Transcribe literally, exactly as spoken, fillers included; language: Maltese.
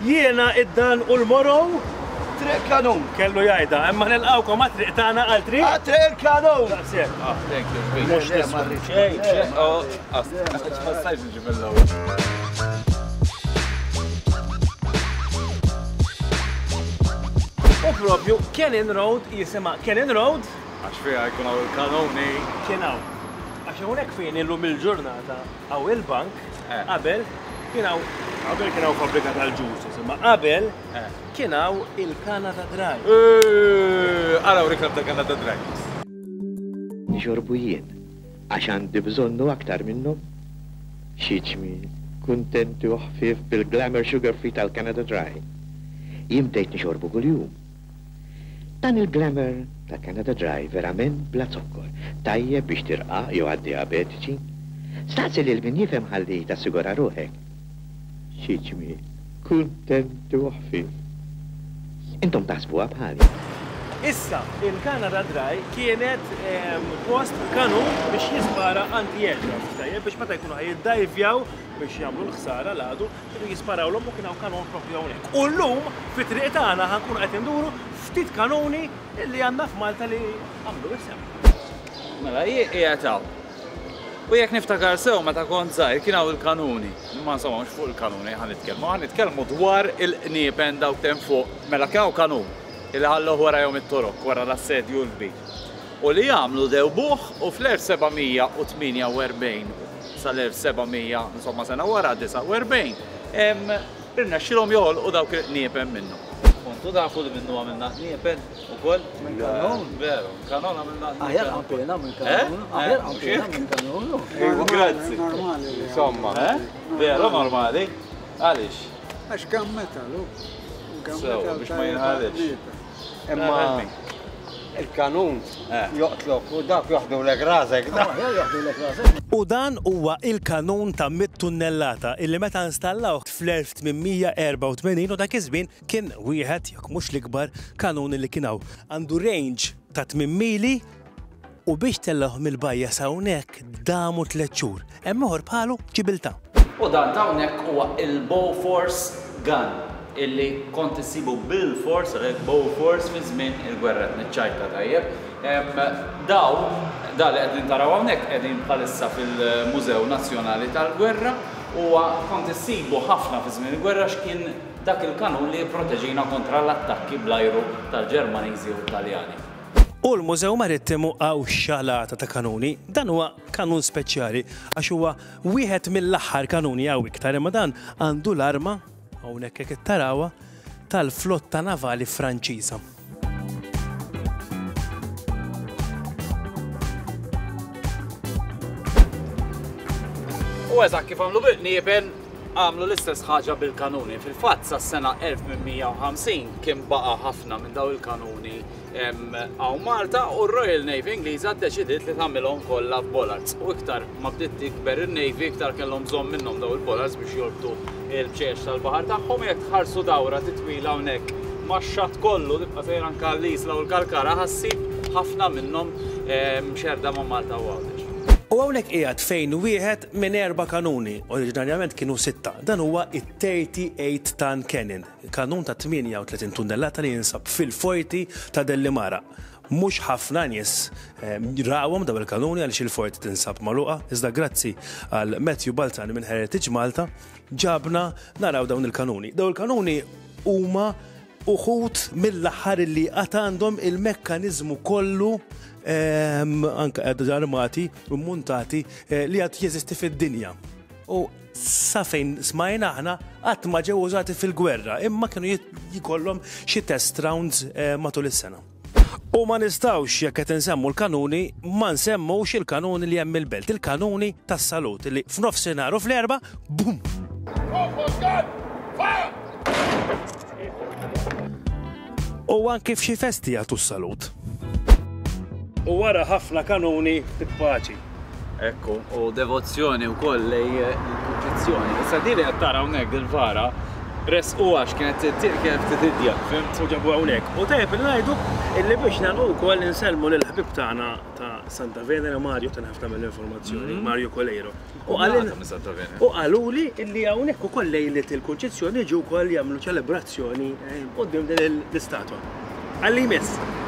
Jiena id-Dan u l-Moro. Triq Kanun. Kellu jgħidha, imma nilqgħukom għat-triq tagħna għal triq. Għat-triq il-Kanun. Daqshekk. Ah, thank you. Mhux nisma'. Xejn, xejn. Oh, ma stajtx niġi mill-ewwel. U propju Cannon Road jisimha Cannon Road. Għax fiha jkun hawn il-kanuni. Kien hawn. Għax hawnhekk fejn illum il-ġurnata hawn il-bank, qabel kien hawn qabel kien hawn fabbrika tal-ġus, imma qabel kien hawn il-Canada Dry. Araw reklam ta' Canada Dry. Nixorbu jien, għax għandi bżonnu aktar minnhom. Xi ġmiel, kuntenti u ħfief bil-Glamour Sugar Free tal-Canada Dry. Jien bdejt nixorbu kuljum. Dan il-Glamour ta' Canada Dry verament bla zokkor, tajjeb biex tirqa' jew għad-diabetiċi. Staqsi lil min jifhem ħalli tassigura ruħek. Xi ġmiel, kuntenti u ħfief. Intom taħsbuha bħali. Issa, il-Canada Dry kienet post kanun biex jispara anti-aircraft, tajjeb, biex meta jkunu ħajiddajvjaw biex jagħmlu l-ħsara l-għadu, kienu jisparawlhom u kien hawn kanun propju hawnhekk. U llum fit-triq tagħna ħankunu qed induru ftit kanuni li għandna f'Malta li għamlu isem. Mela, jien qiegħed hawn. U jekk niftakar sew meta kont żgħir kien hawn il-kanuni. Imma insomma mhux fuq il-kanuni ħa nitkellmu, ħa nitkellmu dwar il-qniepen dawk t'hemm fuq. Mela kien hawn kanun illi ħalluh warajhom it-Torok wara l-assedju l-kbir. U li għamlu dewbuh u fl-elf seba' mija u tmienja u erbgħin sal-elf seba' mija, insomma sena wara disgħa u erbgħin, irnexxilhom joħolqu dawk il-qniepen minnu. Kontu tafu li minnu għamilna qniepen ukoll? Minn kanun? Veru, kanun għamilna qniepen. Aħjar qanpiena minn kanun. Aħjar qanpiena minn kanun. Ejwa, grazzi. Normali. Insomma. Eh? Veru normali? Għaliex? Għax kemm metalu. Sew, biex ma jinħalix. Imma il-kanun joqtlok u dak joħdulek rasek. U dan huwa il-kanun ta' mitt tunnellata illi meta installaw fl-elf tmien mija erba' u tmenin u dak iż-żmien kien wieħed jekk mhux l-ikbar kanun li kien hawn. Għandu range ta' tmien mili u biex tellgħuh mill-bajja sa hawnhekk damu tliet xhur. Hemm ieħor bħalu Ġibiltà. U dan ta' hawnhekk huwa il-Bofors gun illi kont issibu bil-fors, għalhekk Bofors fi żmien il-gwerra niċċajta tajjeb. Daw, da li qegħdin taraw hawnhekk qegħdin bħalissa fil-Mużew Nazzjonali tal-Gwerra u kont issibu ħafna fi żmien il-gwerra x'kien dak il-kanun li jipproteġina kontra l-attakki bl-ajru tal-Ġermaniżi u Taljani. U l-Mużew Marittimu għaw xalata ta' kanuni. Dan huwa kanun speċjali għax huwa wieħed mill-aħħar kanuni għaw iktar, imma dan għandu l-arma hawnhekk hekk tarawha tal-flotta navali Franċiża. U eżatt kif għamlu bil-qniepen, għamlu l-istess ħaġa bil-kanuni. Fil-fatt sas-sena elf tmien mija u ħamsin kien baqa' ħafna minn daw il-kanuni hawn Malta u r-Royal Navy Ingliża ddeċidiet li tagħmilhom kollha f'bollards. U iktar ma bdiet tikber in-Navy, iktar kellhom bżonn minnhom daw il-bollards biex jorbtu il-bċeċ tal-baħar tagħhom. Jekk tħarsu dawra titwila hawnhekk max-xatt kollu tibqa' sejra anke l-Isla u l-Kalkara ħassib ħafna minnhom mxerda ma' Malta u Għawdex. U hawnhekk qiegħed fejn wieħed minn erba' kanuni, oriġinarjament kienu sitta. Dan huwa it-thirty-eight ton cannon, kanun ta' tmienja u tletin tunnellata li jinsab fil-forti ta' Delimara. Mhux ħafna nies, eh, rawhom dawn il-kanuni għaliex il-forti tinsab magħluqa, iżda grazzi għal Matthew Balzani minn Heritage Malta ġabna naraw dawn il-kanuni. Dawn il-kanuni huma uħud mill-aħħar li għad għandhom il-mekkaniżmu kollu, ehm, anke armati u muntati, eh, li għad jeżisti fid-dinja. U sa fejn smajna aħna qatt ma ġew użati fil-gwerra, imma kienu jit-, jkollhom xi test rounds, eh, matul is-sena. U ma nistgħux jekk qed insemmu l-kanuni, ma nsemmux il-kanuni li hemm il-belt, il-kanuni tas-salut li f'nofsinhar u fl-erba, bum! U anke f'xi festi jagħtu s-salut. U wara ħafna kanuni ftit paċi. Ekku, u devozzjoni wkoll lej il-Kunċizzjoni. Issa din li qed tara hawnhekk dil-vara Resqu għax kienet kienet tidja, fhimt? U ġabu hawnhekk. U tajjeb li ngħidu illi biex nagħlqu wkoll insellmu lill-ħbib tagħna ta' Santa Venera, Mario, ta' ħafna mill-informazzjoni, Mario Coleiro. U qalil minn Santa Venera. U qaluli illi hawnhekk ukoll lejlet il-Kunċizzjoni ġew ukoll jagħmlu ċelebrazzjoni quddiem din l-istatwa. Għalli jmiss.